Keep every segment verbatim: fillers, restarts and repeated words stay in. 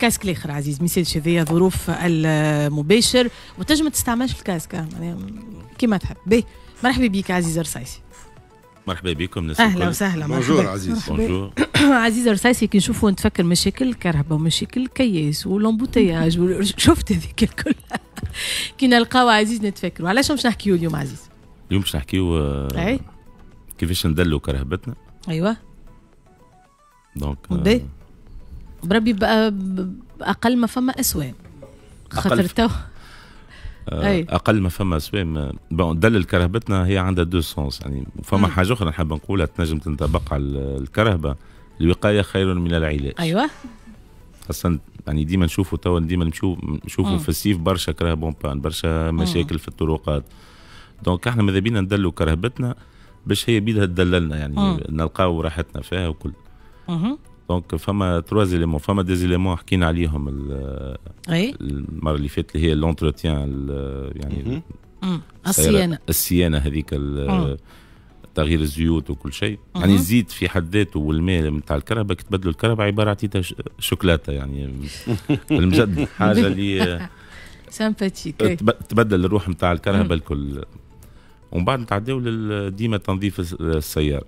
casque الاخر عزيز، ما يسالش، هذيا ظروف المباشر وتنجم تستعملش ال casque معناها كيما تحب. باهي، مرحبا بك عزيز رصايسي. مرحبا بكم الناس. اهلا وسهلا. bonjour عزيز. bonjour. عزيز رصايسي، كي نشوفوا نتفكر مشاكل الكرهبة ومشاكل الكياس و l'embouteillage، شفت هذيك الكل، كي نلقاو عزيز نتفكروا. علاش باش نحكيو اليوم عزيز؟ اليوم باش نحكيو آه، كيفاش ندلوا كرهبتنا. ايوه donc باهي، بربي باقل ما فما اسوام خاطر تو آه، اقل ما فما اسوام. bon، دلل كرهبتنا هي عندها deux sens يعني. فما حاجة اخرى نحب نقولها تنجم تنطبق على الكرهبه: الوقاية خير من العلاج. ايوه خاصة يعني ديما نشوفوا توا، ديما نشوف نشوفوا في الصيف برشا كراهب en panne، برشا مشاكل في الطرقات. donc احنا ماذا بينا ندلوا كرهبتنا باش هي بيدها تدللنا، يعني نلقاو راحتنا فيها وكل. donc فما trois éléments، فما des éléments حكينا عليهم اي المرة اللي فاتت، اللي هي l'entretien يعني الصيانه. الصيانة هذيك، تغيير الزيوت وكل شيء. يعني الزيت في حد ذاته والماء نتاع الكرهبة، كي تبدلوا الكرهبة عبارة عطيتها شوكولاتة يعني المجد، حاجة اللي sympathique. تبدل الروح نتاع الكرهبة الكل. ومن بعد نتعداو ديما تنظيف السياره،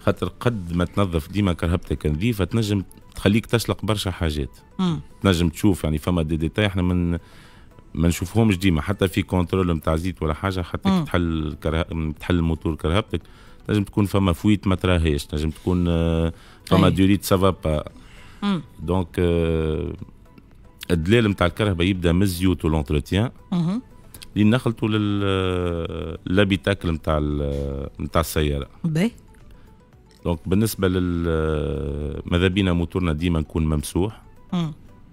خاطر قد ما تنظف ديما كرهبتك نظيفة تنجم تخليك تشلق برشا حاجات. مم. تنجم تشوف يعني فما des détails احنا من ما نشوفهمش ديما، حتى في contrôle نتاع زيت ولا حاجه، حتى كي تحل كره... تحل الموتور كرهبتك تنجم تكون فما fuite ما تراهيش، تنجم تكون آه، فما durite ça va pas. donc الدلال نتاع الكرهبة يبدا من الزيوت و l'entretien لين نخلطوا لل l'habitacle نتاع نتاع السياره. باهي. donc بالنسبة لل ماذا بينا موتورنا ديما نكون ممسوح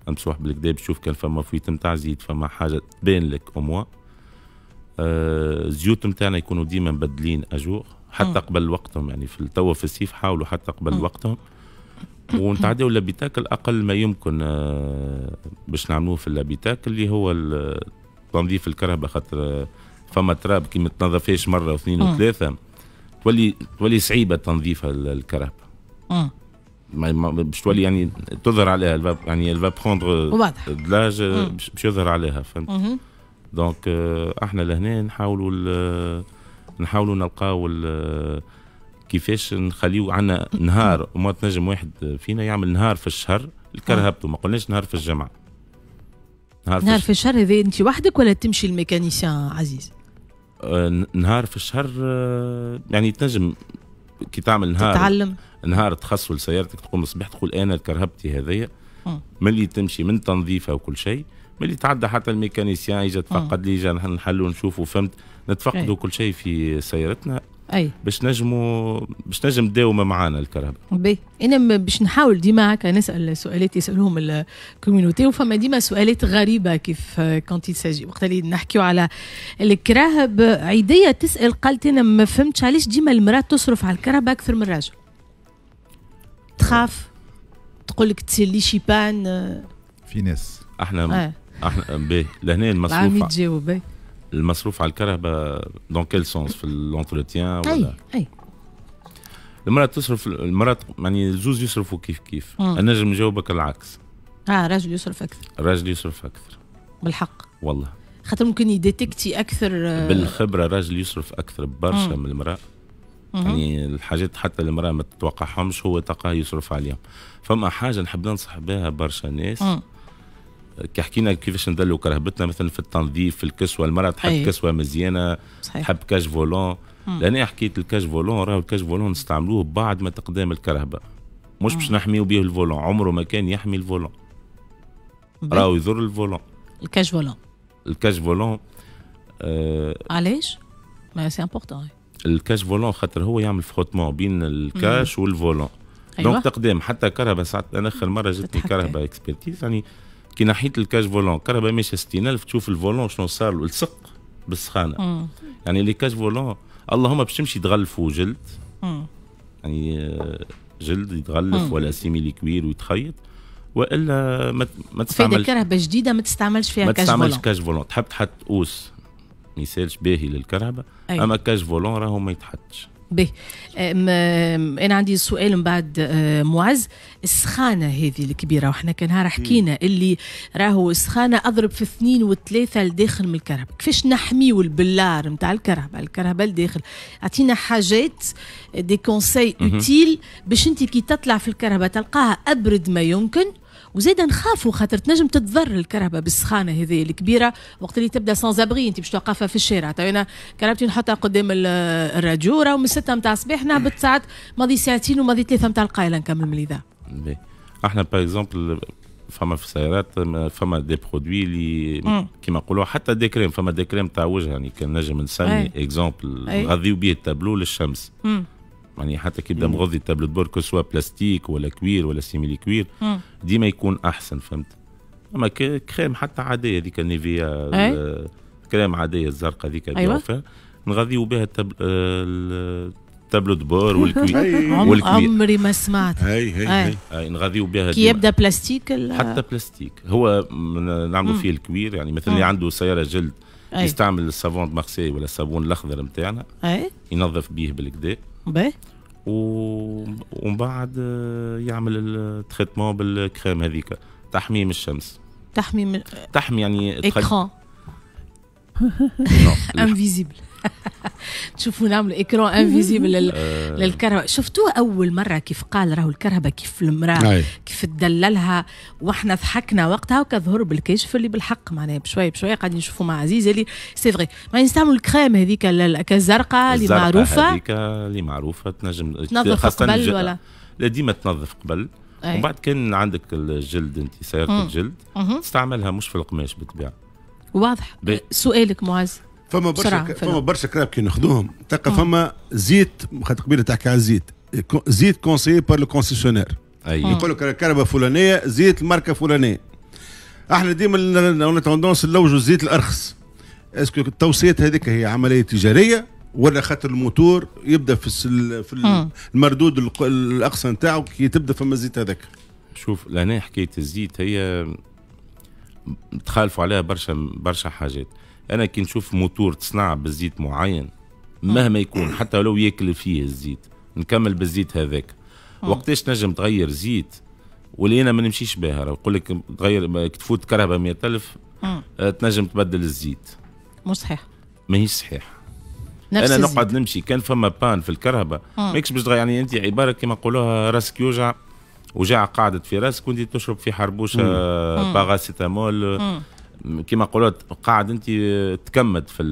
ممسوح بالقدا باش تشوف كان فما fuite نتاع زيت، فما حاجة تبان لك au moins. آه الزيوت نتاعنا يكونوا ديما مبدلين à jour حتى قبل وقتهم، يعني في التوا في الصيف حاولوا حتى قبل وقتهم. ونتعداو l'habitacle، اقل ما يمكن آه، باش نعملوه في l'habitacle اللي هو تنظيف الكرهبة، خاطر فما تراب كي ما تنظفهاش مرة واثنين وثلاثة تولي تولي صعيبة تنظيفها الكرهبة، باش تولي يعني تظهر عليها، يعني elle va prendre de l'âge، باش يظهر عليها، فهمت؟ donc آه، احنا لهنا نحاولوا نحاولوا نلقاو كيفاش نخليو عندنا نهار، وما تنجم واحد فينا يعمل نهار في الشهر لكرهبته، ما قلناش نهار في الجمعه. نهار في, نهار في الشهر. هذا انت وحدك ولا تمشي ال mécanicien عزيز؟ آه، نهار في الشهر، آه، يعني تنجم كي تعمل نهار تتعلم. نهار تخصه لسيارتك، تقوم الصباح تقول انا كرهبتي هذيا ملي تمشي من تنظيفها وكل شيء، ملي تعدى حتى ال mécanicien يجي تفقد لي، يجي نحلوا نشوفوا، فهمت؟ نتفقدوا كل شيء في سيارتنا اي باش نجموا باش نجم تداوم معانا الكرهبة. باهي، انا باش نحاول ديما هكا نسال سؤالات يسالوهم ال communauté، وفما ديما سؤالات غريبة كيف quand il s'agit وقت اللي نحكيو على الكراهب. عيديه تسال، قالت انا ما فهمتش علاش ديما المراة تصرف على الكرهبة اكثر من الراجل، تخاف تقول لك تصير لي شي panne. في ناس. احنا آه. احنا باهي، لهنا المصروف تجاوب. المصروف على الكرهبة dans quel sens؟ في l'entretien ولا اي اي المرأة تصرف، المرأة يعني زوز يصرفوا كيف كيف. انا نجم نجاوبك العكس. اه، راجل يصرف اكثر. الراجل يصرف اكثر. بالحق؟ والله. خاطر ممكن يديتكتي اكثر. آه، بالخبره، الراجل يصرف اكثر برشا من المراة. يعني الحاجات حتى المراة ما تتوقعهمش هو تلقاه يصرف عليهم. فما حاجة نحب ننصح بها برشا ناس، كي حكينا كيفاش ندلوا كرهبتنا مثلا في التنظيف، في الكسوه، المراة تحب أي. كسوه مزيانه، صحيح. تحب cage volant. لان حكيت ال cage volant، راهو ال cage volant نستعملوه بعد ما تقدام الكرهبه، مش باش نحميو به ال volant. عمره ما كان يحمي ال volant، راهو يضر ال volant. ال cage volant. ال cage volant. آه علاش؟ mais c'est important. ال cage volant خاطر هو يعمل frottement بين ال cage وال volant. أيوة. donc تقدام حتى كرهبة ساعات، انا اخر مرة جتني كرهبة expertise، يعني كي نحيت ال cage volant، كرهبة ماشية ستين ألف، تشوف ال volant شنو صار له، لصق بالسخانه. مم. يعني les cages volants اللهم باش تمشي تغلفوا جلد. مم. يعني آه، جلد يتغلف مم. ولا simili-cuir ويتخيط، والا ما ما تستعملش كرهبة جديدة ما تستعملش فيها ما تستعملش cage volant. تحب تحط housse ما يسالش، باهي للكرهبة. أيوة. اما cage volant راهو ما يتحطش. باهي، انا عندي سؤال من بعد معز. السخانه هذه الكبيرة، وحنا كان نهار حكينا اللي راهو السخانه اضرب في اثنين وثلاثة لداخل من الكرهبه، كيفاش نحميو البلار نتاع الكرهبه، الكرهبه لداخل؟ اعطينا حاجات des conseils utiles باش انت كي تطلع في الكرهبه تلقاها ابرد ما يمكن، وزيد نخافوا خاطر تنجم تتضر الكرهبه بالسخانه هذه الكبيرة وقت اللي تبدا sans abri، انت باش توقفها في الشارع. تو انا كرهبتي نحطها قدام الراديو، راهو من ستة نتاع الصباح نهبط ساعات ماضي ساعتين وماضي ثلاثة نتاع القايله نكمل من الاذاعة. احنا par exemple فما في السيارات فما des produits اللي كيما نقولوا حتى des crèmes، فما des crèmes تاع وجه، يعني كان نجم نسمي exemple نغذيو به التابلو للشمس. مم. يعني حتى كي يبدا مغذي ال tableau de bord que ce soit plastique ولا cuir ولا simili cuir ديما يكون احسن، فهمت؟ اما كريم حتى عادية هذيك نيفيا، كريم عادية الزرقاء هذيك. أيوة. نغذيو بها ال tableau de bord وال cuir. وال cuir عمري ما سمعت. هاي هاي هاي نغذيو بها كي يبدا بلاستيك. حتى بلاستيك هو نعملوا فيه ال cuir، يعني مثلا اللي عنده سيارة جلد يستعمل ال savon de Marseille ولا الصابون الاخضر نتاعنا ينظف به بالكدا باهي، ومن بعد يعمل ال traitement بال crème هذيك تحميم الشمس. تحميم تحمي يعني écran invisible. تشوفوا نعملوا écran invisible للكرهبه. شفتوه اول مرة كيف قال راهو الكرهبه كيف المراة كيف تدللها، واحنا ضحكنا وقتها وكظهر بالكشف اللي بالحق معناها بشوية بشوية قاعدين نشوفوا مع عزيز اللي c'est vrai ما نستعملوا الكريم هذيك الزرقاء اللي معروفة، هذيك اللي معروفة تنجم تنظف قبل ولا لا؟ ديما تنظف قبل. ومن بعد كان عندك الجلد انت سيارة الجلد تستعملها مش في القماش بالطبيعة. واضح. سؤالك معز. فما برشا فما برشا كراهب كي ناخذوهم تلقى فما زيت، خاطر قبيلة تحكي على الزيت، زيت conseillé par le concessionnaire. يقول لك الكرهبه فلانيه زيت الماركة فلانيه. احنا ديما on a tendance نلوجوا الزيت الارخص. est-ce que التوصيات هذيك هي عملية تجارية ولا خاطر الموتور يبدا في في المردود الاقصى نتاعو كي تبدا فما الزيت هذاك؟ شوف لهنا حكاية الزيت هي تخالفوا عليها برشا برشا حاجات. انا كي نشوف موتور تصنع بالزيت معين مهما يكون حتى لو ياكل فيه الزيت نكمل بالزيت هذاك. وقتاش نجم تغير زيت واللي انا ما نمشيش بها؟ يقول لك تغير تفوت كرهبه مية ألف تنجم تبدل الزيت. مش صحيح، ماهيش صحيح. نفس انا نقعد الزيت. نمشي كان فما panne في الكرهبه ماكش باش تغير، يعني انت عبارة كما نقولوها راسك يوجع وجع قعدت في راسك وانت تشرب في حربوشه باراسيتامول كما قلت، قاعد انت تكمد في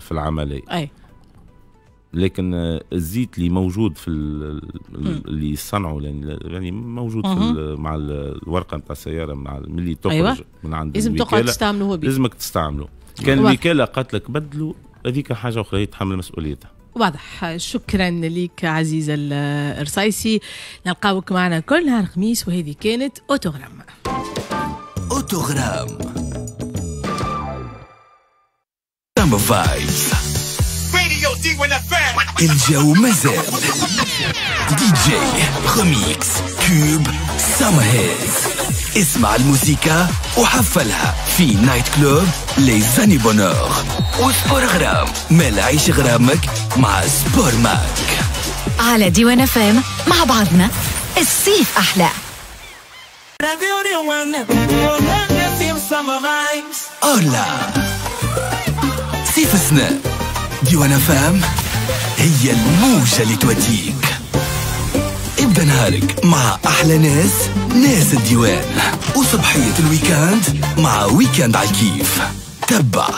في العملية. اي لكن الزيت اللي موجود في اللي صنعوا يعني موجود في مع الورقة نتاع السيارة مع ملي تخرج. أيوة. من عند لازم تقعد تستعمله هو بيه. لازمك تستعمله. كان الوكالة قالت لك بدلوا هذيك حاجة اخرى يتحمل مسؤوليتها. واضح. شكرا لك عزيز الرصايسي، نلقاوك معنا كل نهار خميس. وهذه كانت اوتوغرام. اوتوغرام vibes الجو مازال DJ remix tubes summer hits. اسمع الموسيقى وحفلها في night club les années bonheur و sport غرام. مال عيش غرامك مع سبور ماك على ديوان فام. مع بعضنا الصيف احلى. أولا صيف السنة ديوان فام هي الموجة اللي توديك. ابدأ نهارك مع أحلى ناس، ناس الديوان، وصبحية ال week-end مع week-end على الكيف. تبع